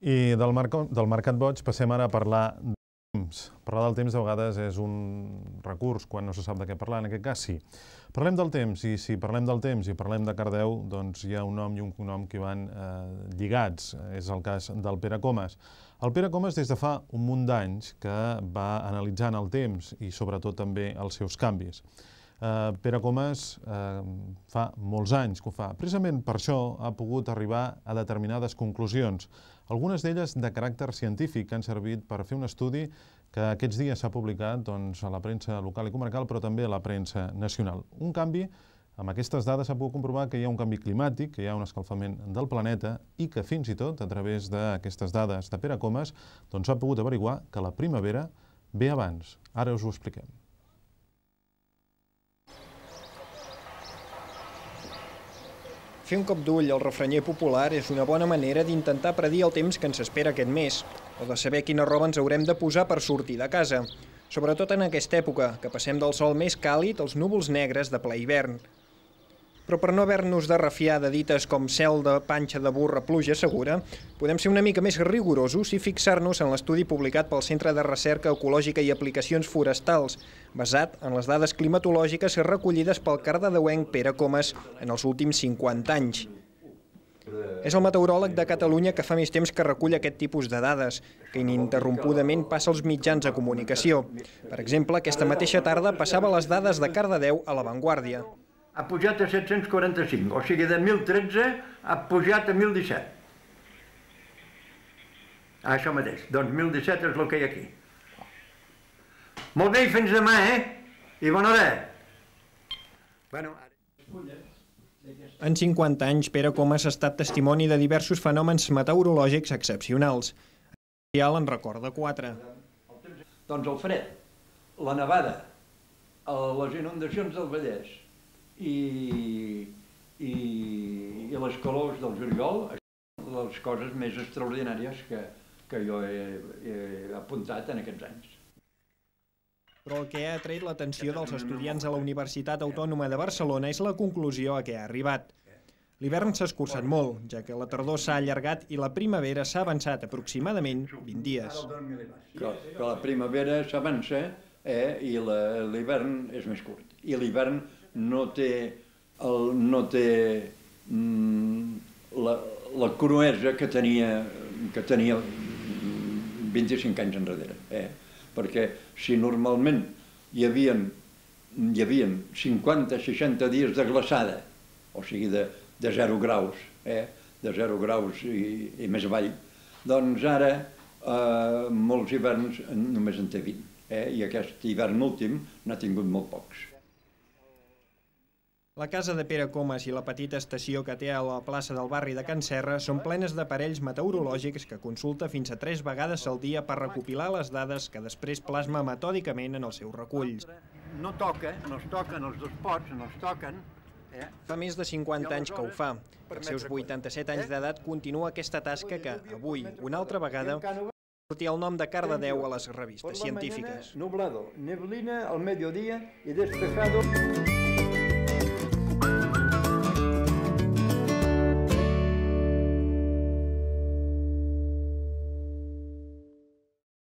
I del mercat boig passem ara a parlar del temps. Parlar del temps de vegades és un recurs quan no se sap de què parlar, en aquest cas sí. Parlem del temps, i si parlem del temps i parlem de Cardedeu, doncs hi ha un nom i un cognom que van lligats. És el cas del Pere Comas. El Pere Comas des de fa un munt d'anys que va analitzant el temps i sobretot també els seus canvis. Pere Comas fa molts anys que ho fa. Precisament per això ha pogut arribar a determinades conclusions, algunes d'elles de caràcter científic, que han servit per fer un estudi que aquests dies s'ha publicat a la premsa local i comarcal, però també a la premsa nacional. Un canvi, amb aquestes dades s'ha pogut comprovar que hi ha un canvi climàtic, que hi ha un escalfament del planeta i que fins i tot, a través d'aquestes dades de Pere Comas, s'ha pogut averiguar que la primavera ve abans. Ara us ho expliquem. Fer un cop d'ull al refranyer popular és una bona manera d'intentar predir el temps que ens espera aquest mes, o de saber quina roba ens haurem de posar per sortir de casa. Sobretot en aquesta època, que passem del sol més càlid als núvols negres de ple hivern. Però per no haver-nos de refiar de dites com cel de panxa de burra, pluja segura, podem ser una mica més rigorosos i fixar-nos en l'estudi publicat pel Centre de Recerca Ecològica i Aplicacions Forestals, basat en les dades climatològiques recollides pel cardedeuenc Pere Comas en els últims 50 anys. És el meteoròleg de Catalunya que fa més temps que recull aquest tipus de dades, que ininterrompudament passa als mitjans de comunicació. Per exemple, aquesta mateixa tarda passava les dades de Cardedeu a La Vanguardia. Ha pujat a 745, o sigui, de 1.013 ha pujat a 1.017. Això mateix, doncs 1.017 és el que hi ha aquí. Molt bé, i fins demà, I bona hora. En 50 anys, Pere Comas ha estat testimoni de diversos fenòmens meteorològics excepcionals. En recorda 4. Doncs el fred, la nevada, les inundacions del Vallès i les calors del juliol, les coses més extraordinàries que jo he apuntat en aquests anys. Però el que ha atret l'atenció dels estudiants a la Universitat Autònoma de Barcelona és la conclusió a què ha arribat. L'hivern s'ha escurçat molt, ja que la tardor s'ha allargat i la primavera s'ha avançat aproximadament 20 dies. Que la primavera s'avança i l'hivern és més curt. I l'hivern no té la cruesa que tenia 25 anys enrere. Perquè si normalment hi havia 50-60 dies de glaçada, o sigui de 0 graus, de 0 graus i més avall, doncs ara molts hiverns només en té 20. I aquest hivern últim n'ha tingut molt pocs. La casa de Pere Comas i la petita estació que té a la plaça del barri de Can Serra són plenes d'aparells meteorològics que consulta fins a 3 vegades al dia per recopilar les dades que després plasma metòdicament en els seus reculls. No toca, no es toquen els dos pots, no es toquen. Fa més de 50 anys que ho fa. Als seus 87 anys d'edat continua aquesta tasca que, avui, una altra vegada, sortia el nom de Cardedeu a les revistes científiques. Nublado, neblina al mediodía y despejado.